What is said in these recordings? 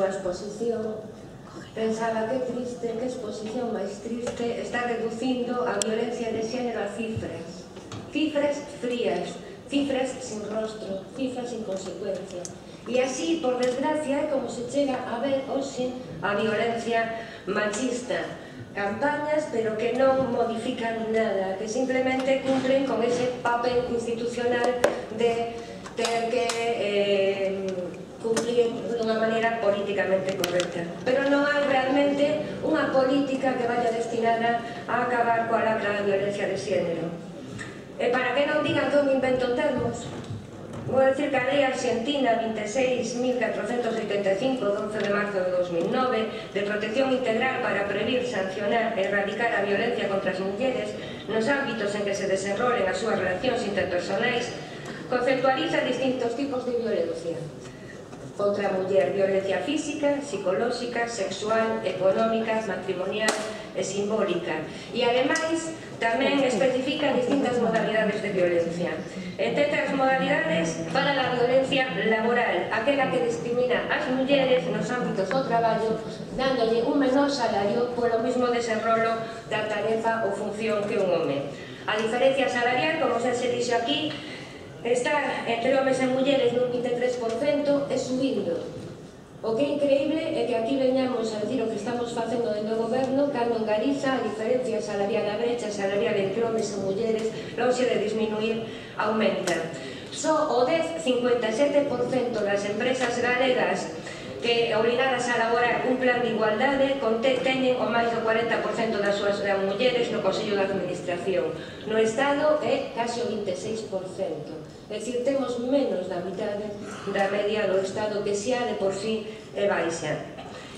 súa exposición, pensaba que triste, que exposición máis triste, está reducindo a violencia de xénero a cifras. Cifras frías, cifras sin rostro, cifras sin consecuencia. E así, por desgracia, é como se chega a ver hoxe a violencia machista. Campañas, pero que non modifican nada, que simplemente cumplen con ese papel institucional de ter que cumplir dunha maneira políticamente correcta. Pero non hai realmente unha política que vaya destinada a acabar coa lacra da violencia de xénero. E para que non digan que eu me invento termos, vou dicir que a lei argentina 26.485, 12 de marzo de 2009, de protección integral para prevenir, sancionar e erradicar a violencia contra as mulleres nos ámbitos en que se desenrolen as súas relacións interpersonais, conceptualiza distintos tipos de violencia contra a muller: violencia física, psicolóxica, sexual, económica, matrimonial e simbólica. E ademais tamén especifica distintas modalidades de violencia. Entre as modalidades, para a violencia laboral, aquela que discrimina as mulleres nos ámbitos do traballo, dándolle un menor salario polo mismo desenrolo da tarefa ou función que un home. A diferencia salarial, como xa se dixo aquí, está entre homes e mulleres nun 23% e subindo. O que é increíble é que aquí veñamos a decir o que estamos facendo dentro do goberno, cando en Galiza a diferencia salarial, a brecha salarial entre homes e mulleres, lonxe de disminuir, aumenta. Só o 10,57% das empresas galegas que obligadas a elaborar un plan de igualdade teñen o máis do 40% das súas mulleres no Consello de Administración. No Estado é case o 26%. É dicir, temos menos da mitade da media do Estado, que xa de por sí é baixa.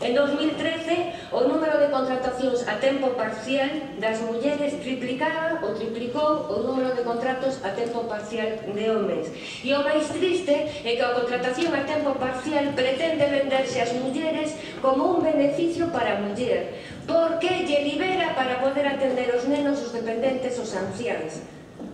En 2013, o número de contratacións a tempo parcial das mulleres triplicaba ou triplicou o número de contratos a tempo parcial de homes. E o máis triste é que a contratación a tempo parcial pretende venderse ás mulleres como un beneficio para a muller, porque lle libera para poder atender os nenos, os dependentes, os anciáns.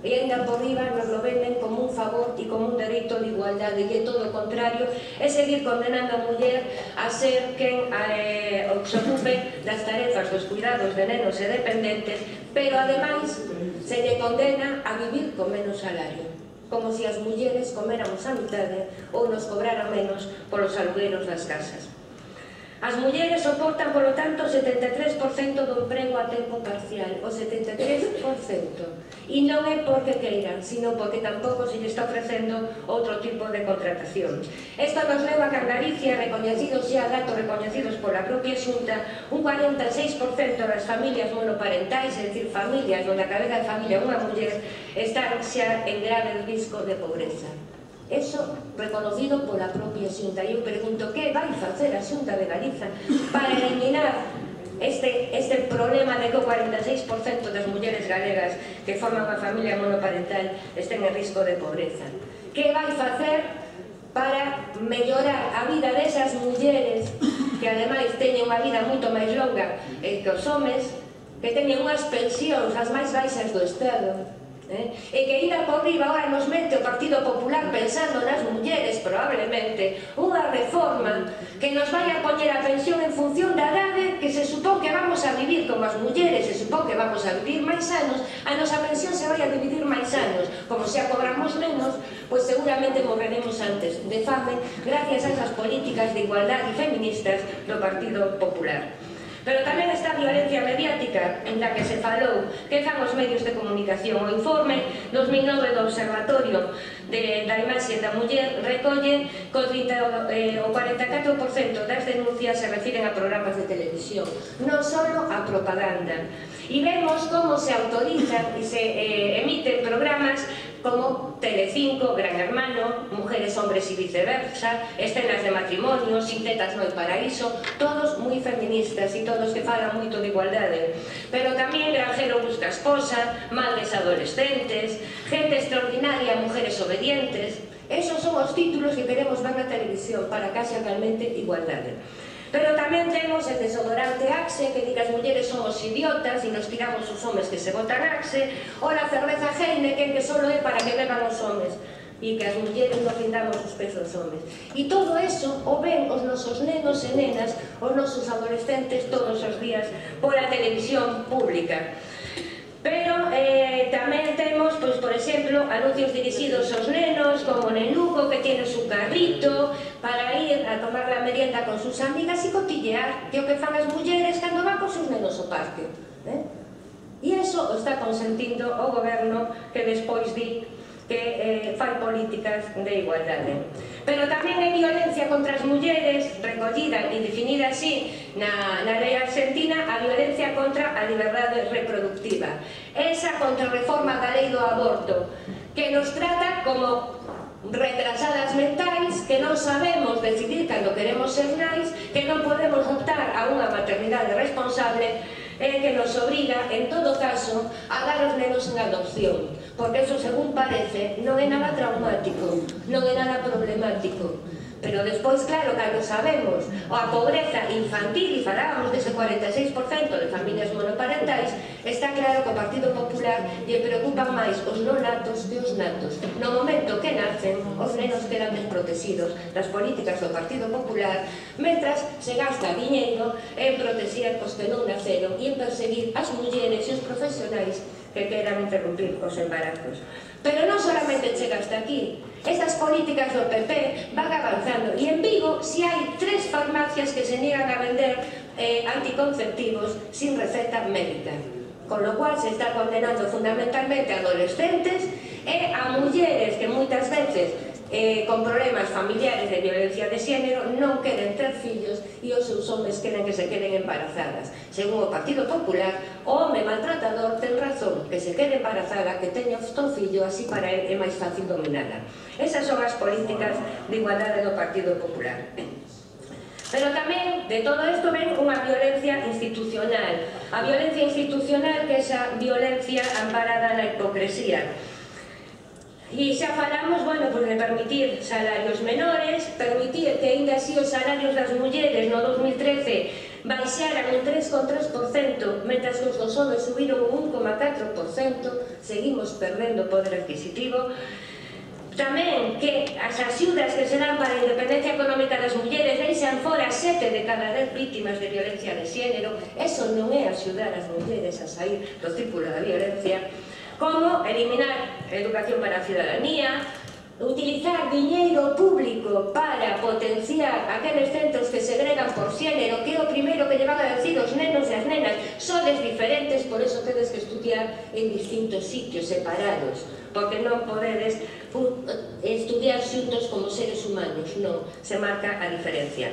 E ainda por riba nos lo venden como un favor e como un dereito de igualdade, e é todo o contrario, é seguir condenando a muller a ser quen se ocupe das tarefas dos cuidados de nenos e dependentes, pero ademais se lle condena a vivir con menos salario, como se as mulleres coméramos a mitade ou nos cobraran menos polos alugueiros das casas. As mulleres soportan, polo tanto, o 73% do emprego a tempo parcial, o 73%. E non é porque queiran, sino porque tampouco se lle está ofrecendo outro tipo de contratación. Isto nos leva a que en Galicia, recoñecidos xa, datos recoñecidos pola propia Xunta, un 46% das familias monoparentais, é dicir, familias onde a cabeza de familia é unha muller, están xa en grave risco de pobreza. Eso reconocido pola propia Xunta. E eu pregunto, que vai facer a Xunta de Galiza para eliminar este problema de que o 46% das mulleres galegas que forman unha familia monoparental estén en risco de pobreza? Que vai facer para mellorar a vida desas mulleres que ademais teñen unha vida moito máis longa que os homes, que teñen unhas pensións as máis baixas do Estado? E que ida por riba agora nos mete o Partido Popular pensando nas mulleres, probablemente, unha reforma que nos vai a poñer a pensión en función da idade que se supón que vamos a vivir como as mulleres, se supón que vamos a vivir máis anos, a nosa pensión se vai a dividir máis anos. Como xa cobramos menos, pois seguramente morreremos antes de fame gracias a esas políticas de igualdade feministas do Partido Popular. Pero tamén esta violencia mediática en la que se falou, que fan os medios de comunicación. O informe 2009 do Observatorio da Imaxe da Muller recolle que o 44% das denuncias se refiren a programas de televisión, non só a propaganda. E vemos como se autorizan e se emiten programas como Telecinco, Gran Hermano, Mujeres, Hombres y Viceversa, Escenas de Matrimonio, Sin Tetas no hay paraíso, todos moi feministas e todos que falan moito de igualdade. Pero tamén Granjero busca esposa, Madres adolescentes, Gente extraordinaria, Mujeres obedientes. Esos son os títulos que queremos ver na televisión para que haxa realmente igualdade. Pero tamén temos el desodorante Axe, que di que as mulleres somos idiotas e nos tiramos os homes que se botan Axe, ou a cerveza Heineken, que só é para que beban os homes. e que as mulleres non findamos os pés dos homes. E todo eso o ven os nosos nenos e nenas, os nosos adolescentes todos os días pola televisión pública. Pero tamén temos, por exemplo, anuncios dirixidos aos nenos, como en Lugo, que tiene su carrito para ir a tomar la merienda con sus amigas e cotillear, que o que fan as mulleres cando van con sus nenos ao parque. E iso o está consentindo o goberno que despois di que fai políticas de igualdade. Pero tamén hai violencia contra as mulleres, recollida e definida así na lei argentina, a violencia contra a liberdade reproductiva. Esa contrarreforma da lei do aborto, que nos trata como retrasadas mentais, que non sabemos decidir cando queremos ser nais, que non podemos optar a unha maternidade responsable, que nos obriga, en todo caso, a dar os nenos en adopción, porque eso, según parece, non é nada traumático, non é nada problemático. Pero despois, claro, cando sabemos a pobreza infantil, e falábamos dese 46% de familias monoparentais, está claro que o Partido Popular lle preocupan máis os non natos que os natos. No momento que nacen, os nenos quedan desprotegidos das políticas do Partido Popular, mentras se gasta diñeiro en protexer os que non naceron e en perseguir as mulleres e os profesionais que queran interrumpir os embarazos. Pero non solamente chega hasta aquí. Estas políticas do PP van avanzando e en Vigo si hai 3 farmacias que se niegan a vender anticonceptivos sin receta médica, con lo cual se está condenando fundamentalmente a adolescentes e a mulleres que moitas veces con problemas familiares de violencia de xénero non queren ter fillos e os seus homes queren que se queden embarazadas. Según o Partido Popular, o home maltratador ten razón, que se quede embarazada, que teña un fillo, así para ele é máis fácil dominala. Esas son as políticas de igualdade do Partido Popular. Pero tamén de todo isto ven unha violencia institucional. A violencia institucional, que é esa violencia amparada na hipocresía. E xa falamos, bueno, de permitir salarios menores, permitir que ainda así os salarios das mulleres no 2013 baixaran un 3,3%, mentras que os dos homes subiron un 1,4%, seguimos perdendo poder adquisitivo. Tamén que as axudas que se dan para a independencia económica das mulleres deixan fora 7 de cada 10 vítimas de violencia de xénero. Eso non é axudar as mulleres a sair do círculo da violencia. Como eliminar a educación para a cidadanía, utilizar diñeiro público para potenciar aqueles centros que segregan por xénero, que é o primeiro que lle van a decir os nenos e as nenas: sodes diferentes, por eso tedes que estudiar en distintos sitios separados, porque non podedes estudiar xuntos como seres humanos, non, se marca a diferencia.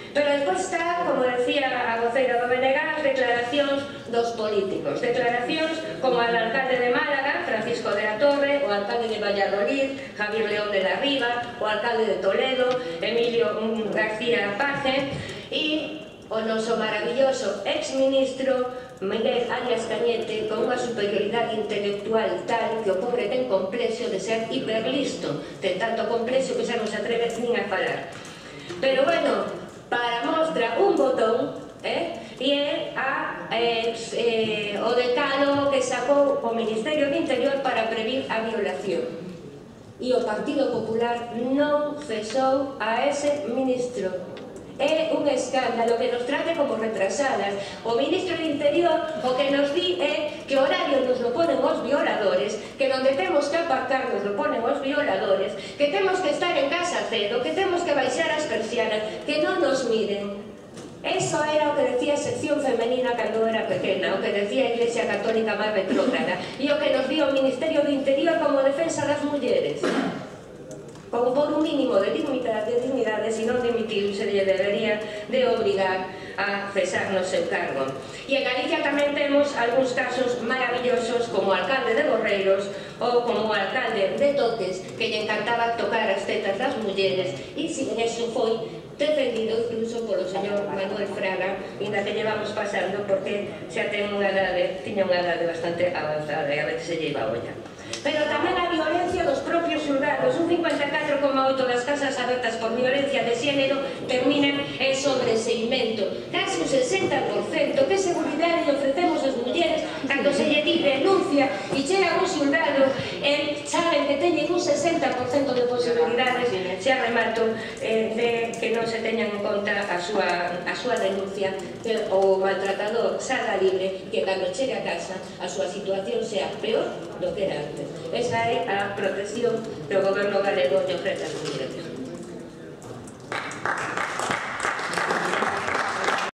Pero despois está, como decía a voceira do BNG, as declaracións dos políticos. Declaracións como a do alcalde de Málaga, Francisco de la Torre, o alcalde de Valladolid, Javier León de la Riva, o alcalde de Toledo, Emilio García Paje, e o noso maravilloso exministro Miguel Arias Cañete, con unha superioridade intelectual tal que o pobre ten complexo de ser hiperlisto, ten tanto complexo que xa non se atreve nin a falar. Pero bueno, para mostra un botón, e é o decálogo que sacou o Ministerio do Interior para previr a violación. E o Partido Popular non cesou a ese ministro. É un escándalo que nos trate como retrasadas. O ministro do Interior o que nos di é que o horario nos lo ponen os violadores, que onde temos que aparcar nos lo ponen os violadores, que temos que estar en casa cedo, que temos que baixar as persianas, que non nos miren. Eso era o que decía a sección femenina cando era pequena, o que decía a Iglesia Católica máis retrógrada, e o que nos dio o Ministerio do Interior como defensa das mulleres. Con por un mínimo de dignidade, se non dimitir, se lle debería de obrigar a cesar no seu cargo. E en Galicia tamén temos algúns casos maravillosos, como o alcalde de Borreiros ou como o alcalde de Toques, que lle encantaba tocar as tetas das mulleres, e si eso foi defendido incluso polo señor Manuel Fraga, ainda que llevamos pasando, porque xa tiña unha edade bastante avanzada e a veces se lle iba a olla. Pero tamén a violencia dos propios xulgados. Un 54,8% das casas abertas por violencia de xénero terminan en sobreseimento. Casi un 60%. Que seguridade lle ofrecemos as mulleres cando se lle di denuncia e chega un xulgado e saben que teñen un 60% de posibilidades, xa remato, de que non se teñan en conta a súa denuncia, que o maltratador salga libre, que cando chegue a casa a súa situación sea peor do que era antes. Esa é a protección que o goberno galego lle ofrece ás mulleres.